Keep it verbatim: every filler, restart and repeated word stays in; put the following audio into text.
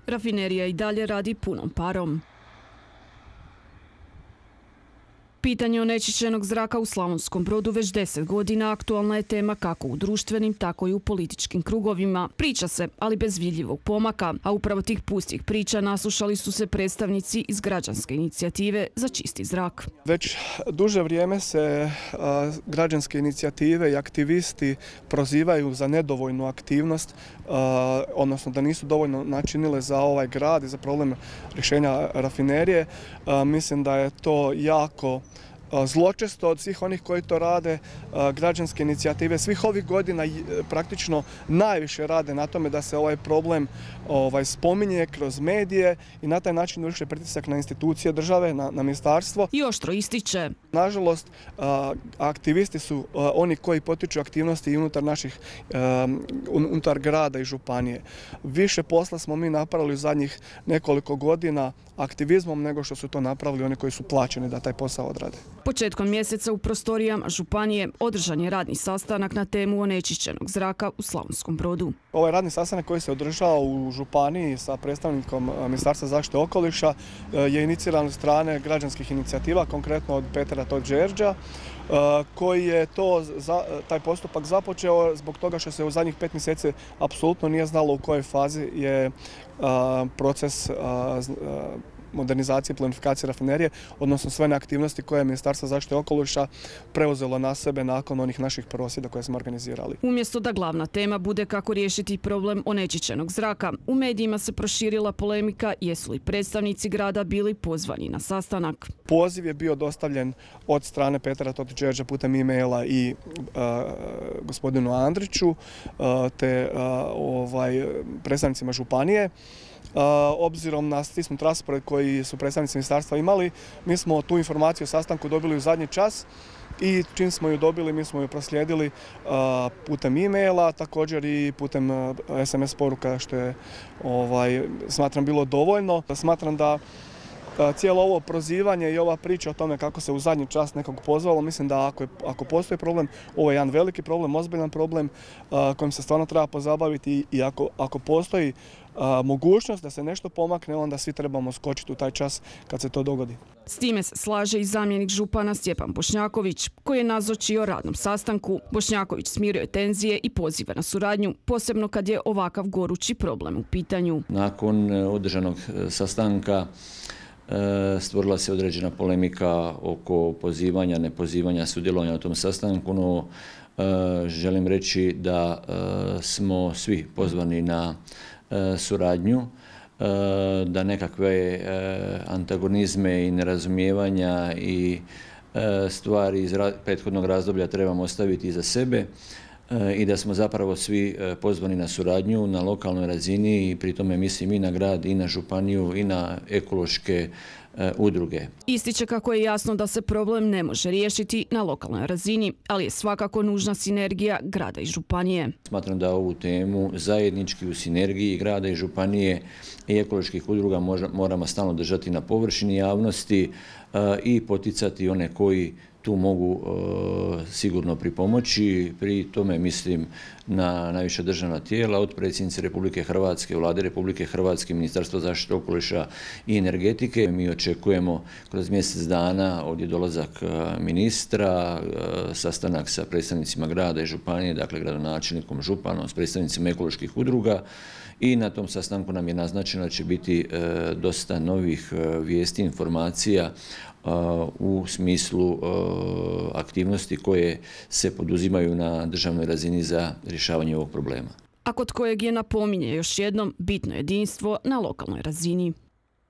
Rafinerija i dalje radi punom parom. Pitanje onečišćenog zraka u Slavonskom Brodu već deset godina aktualna je tema kako u društvenim, tako i u političkim krugovima. Priča se, ali bez vidljivog pomaka, a upravo tih pustih priča naslušali su se predstavnici iz građanske inicijative za čisti zrak. Već duže vrijeme se a, građanske inicijative i aktivisti prozivaju za nedovoljnu aktivnost, a, odnosno da nisu dovoljno načinile za ovaj grad i za problem rješenja rafinerije. A, mislim da je to jako zločesto od svih onih koji to rade. Građanske inicijative svih ovih godina praktično najviše rade na tome da se ovaj problem ovaj, spominje kroz medije i na taj način vrše pritisak na institucije države, na, na ministarstvo. I oštro ističe. Nažalost, aktivisti su oni koji potiču aktivnosti i unutar naših, unutar grada i županije. Više posla smo mi napravili u zadnjih nekoliko godina aktivizmom nego što su to napravili oni koji su plaćeni da taj posao odrade. Početkom mjeseca u prostorijama županije održan je radni sastanak na temu onečišćenog zraka u Slavonskom Brodu. Ovaj radni sastanak koji se održao u županiji sa predstavnikom Ministarstva zaštite okoliša je iniciran od strane građanskih inicijativa, konkretno od Petra Todžerđa, koji je to, taj postupak započeo zbog toga što se u zadnjih pet mjeseci apsolutno nije znalo u kojoj fazi je proces modernizacije i plinifikacije rafinerije, odnosno sve one aktivnosti koje je Ministarstvo zaštite okoliša preuzelo na sebe nakon onih naših prosvjeda koje smo organizirali. Umjesto da glavna tema bude kako riješiti problem onečišćenog zraka, u medijima se proširila polemika jesu li predstavnici grada bili pozvani na sastanak. Poziv je bio dostavljen od strane Petra Todžerđa putem e-maila i uh, gospodinu Andriću uh, te uh, ovaj, predstavnicima županije. Uh, obzirom na stisnut raspored koji su predstavnici ministarstva imali, mi smo tu informaciju o sastanku dobili u zadnji čas i čim smo ju dobili, mi smo ju proslijedili uh, putem e-maila, također i putem uh, es em es poruka, što je ovaj, smatram bilo dovoljno. Smatram da cijelo ovo prozivanje i ova priča o tome kako se u zadnji čas nekog pozvalo, mislim da ako, je, ako postoji problem, ovo je jedan veliki problem, ozbiljan problem uh, kojim se stvarno treba pozabaviti i ako, ako postoji uh, mogućnost da se nešto pomakne, onda svi trebamo skočiti u taj čas kad se to dogodi. S time se slaže i zamjenik župana Stjepan Bošnjaković, koji je nazočio radnom sastanku. Bošnjaković smirio je tenzije i poziva na suradnju, posebno kad je ovakav gorući problem u pitanju. Nakon održanog sastanka stvorila se određena polemika oko pozivanja, nepozivanja, sudjelovanja u tom sastanku, no želim reći da smo svi pozvani na suradnju, da nekakve antagonizme i nerazumijevanja i stvari iz prethodnog razdoblja trebamo ostaviti iza sebe i da smo zapravo svi pozvani na suradnju na lokalnoj razini i pri tome mislim i na grad, i na županiju, i na ekološke udruge. Ističe kako je jasno da se problem ne može riješiti na lokalnoj razini, ali je svakako nužna sinergija grada i županije. Smatram da ovu temu zajednički u sinergiji grada i županije i ekoloških udruga moramo stalno držati na površini javnosti i poticati one koji tu mogu uh, sigurno pripomoći. Pri tome mislim na najviša državna tijela, od predsjednice Republike Hrvatske, Vlade Republike Hrvatske, Ministarstva zaštite okoliša i energetike. Mi očekujemo kroz mjesec dana ovdje dolazak uh, ministra, uh, sastanak sa predstavnicima grada i županije, dakle gradonačelnikom, županom, s predstavnicima ekoloških udruga. I na tom sastanku nam je naznačeno da će biti uh, dosta novih uh, vijesti, informacija u smislu aktivnosti koje se poduzimaju na državnoj razini za rješavanje ovog problema. A kod kojeg je napominje još jednom bitno jedinstvo na lokalnoj razini.